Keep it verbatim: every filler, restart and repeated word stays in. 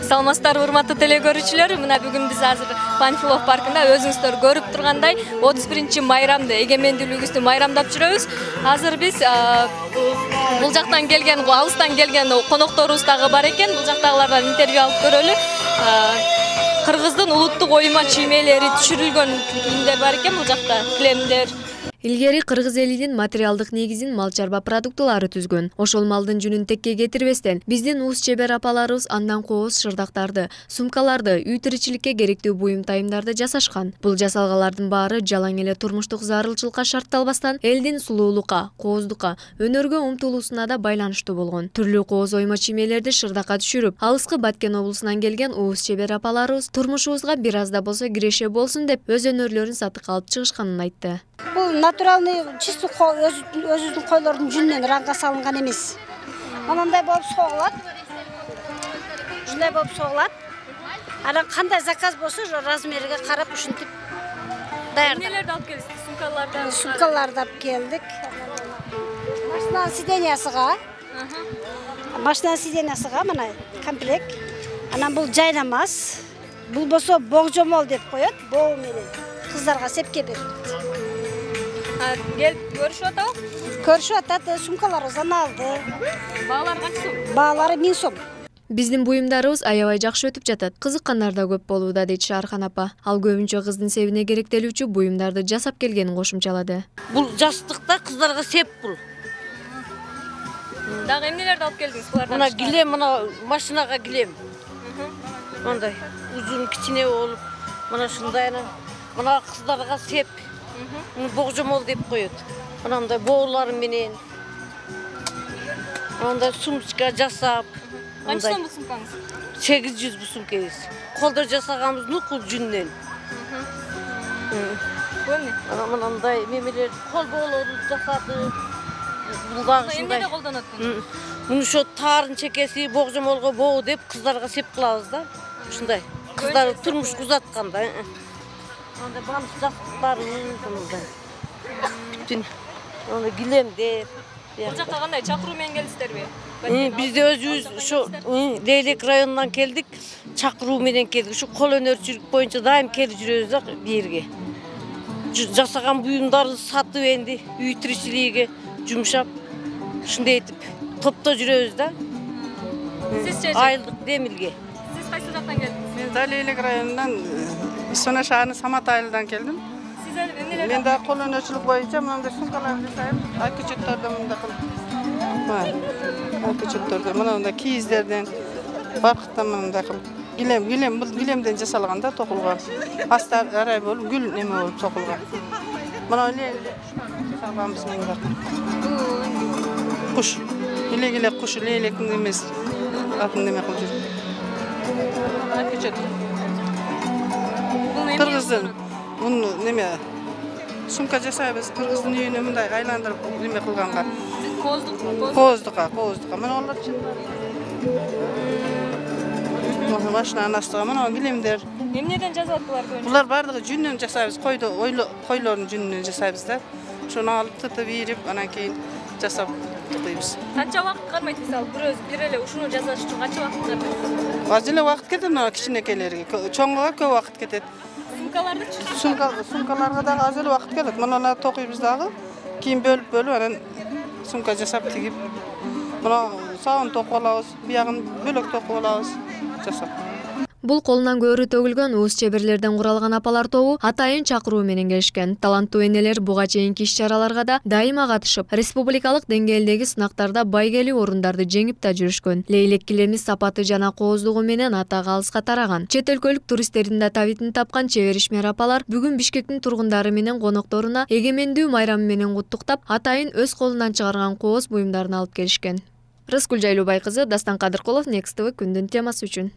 Саламатсыздарбы, урматтуу теле көрүүчүлөр. Мына бүгүн биз азыр Панфилов паркында өзүңүздөр көрүп тургандай отуз биринчи майрамды, эгемендүүлүгүбүздү майрамдап жүрөбүз. Азыр биз бул жактан келген, алыстан келген конокторубуз дагы бар экен. Бул жактагылардан интервью алып көрөлү. Кыргыздын улуттук оюма чиймелери түшүрүлгөн кийимдер бар экен бул жакта, килемдер. Илгери кыргыз элинин материалдык негизин мал чарба продуктылары түзгөн. Ошол малдын жүнүн текке кетирбестен биздин уус чебер апаларыбыз андан кооз шырдактарды, сумкаларды, үй тиричиликке керектүү буюм тайымдарды жасашкан. Бул жасалгалардын баары жалаң эле турмуштук зарылчылыкка шартталбастан элдин сулуулукка, кооздукка, өнөргө умтулуусуна да байланыштуу болгон. Түрлүү кооз ойма чиймелерди шырдакка түшүрүп, алыскы Баткен облусунан келген уус чебер апаларыбыз турмушубузга бир аз да болсо киреше болсун деп өз өнөрлөрүн сатыкка алып чыгышканын айтты. Бул натуралный чистый өзүбүздүн койлордун жүнүнөн ранга салынган эмес. Мындай болуп согулат. Ушундай болуп согулат. Анан кандай заказ болсо размериге карап ушинтип даярдап. Эмнелерди алып келдиңиз? Сумкаларды. Сумкаларды алып келдик. Машина сидениясыга. Машина сидениясыга мына комплект. Анан бул жайнамаз. Бул болсо богжомол деп коет, боо менен. Кыздарга сепке берет. Келип көрүшүп атабы? Көрүшүп атат, сумкаларыбыздан алды. Баалары канча сом? Баалары миң сом. Биздин буюмдарыбыз аябай жакшы өтүп жатат. Кызыккандар да көп болууда, дейт Шаархан апа. Ал көбүнчө кыздын себине керектелүүчү буюмдарды жасап келгенин кошумчалады. Бул жастыкта кыздарга сеп бул. Дагы эмнелерди алып келдиңиз булардан? Мына килем, мына машинага килем. Мындай узун кичине болуп, мына ушундай анан мына кыздарга сеп. Богжомол деп коет. Мындай боолары менен. Мындай сумочка жасап. Канча сом бул сумкаңыз? сегиз жүз бул сумкаңыз. Колдо жасаганбыз нукул жүндөн. Көне. Ana мындай мемелер кол боолорун жасады. Бул дагы ушундай. Эмнеде колдонот муну? Муну ошо тарын чекеси богжомолго боо деп кыздарга сеп кылабыз да. Ушундай. Кыздар турмуш узатканда. Анда балык жастыктары мындай. Бүтүн аны килемдер. Бул жакка кандай чакыруу менен келдиңиздерби? Биз да өзүбүз ошо Лейлек районунан келдик, чакыруу менен келдик. Ушу кол өнөрчүлүк боюнча дайым келип жүрөбүз да бу жерге. Жасаган буюмдарды сатып энди үй тиричилиgiге жумшап, ушундай этип топто жүрөбүз да. Сизчи? Айылдык Демилге. Сиз кайсы жактан келдиңиз? Мен да Лейлек районунан Сона шаарынын Самат айылынан келдим. Сиз эмнелерди? Мен да кол өнөрчүлүк боюнча мындай сумкалар жасайм. Айкычөттөрдөн мындай кылып. Бар. Айкычөттөрдөн мына мындай кийиздерден, баркыттан мындай кылып. Килем, килем, бул килемден жасалган да токулган. Асты арай болуп, гүл неме болуп токулган. Мына жасалганбыз мындай. Куш. Эле-эле куш, лейлектин эмес. Атын неме кылып жүр. Айкычөт. Кыргыздын муну неме сумка жасайбыз. Кыргыздын үйүнө мындай айландырып неме кылганга. Кооздук, кооздукка, кооздукка. Мына алар Мына машинанын астыга мына килемдер. Эмнеден жасалат булар көбүнчө? Булар бардыгы жүннөн жасайбыз. Койдо койлордун жүнүнөн жасайбыз да. Ошону алып тытып ийрип, анан кийин жасап тукуйбуз. Канча убакыт кармайт мисалы бир өз бир эле ушуну жасаш үчүн канча убакыт кармайт? Аз эле убакыт кетет мына кичинекейлерге. Чоңго көп убакыт кетет. Сумкаларды? Сумка сумкаларга дагы аз эле убакыт кетет. Мына токуйбуз дагы. Кийин бөлүп-бөлүп анан сумка жасап тигип. Мына саун токуп алабыз, биягын бөлөк токуп алабыз. Жасап. Бул колунан көөрү төгүлгөн уус чеберлерден куралган апалар тобу атайын чакыруу менен келишкен. Таланттуу энелер буга чейинки иш-чараларга да дайыма катышып, республикалык деңгээлдеги сынактарда байгелүү орундарды жеңип да жүрүшкөн. Лейлек килеми сапаты жана кооздугу менен атак алыска тараган. Чет өлкөлүк туристтердин да табитин тапкан чебер ишмер апалар бүгүн Бишкектин тургундары менен конокторуна эгемендүү майрамы менен куттуктап, атайын өз колунан чыгарган кооз буюмдарын алып келишкен. Рыскүл Жайлообай кызы, Дастан Кадыркулов, Next тэ вэ күндүн темасы үчүн.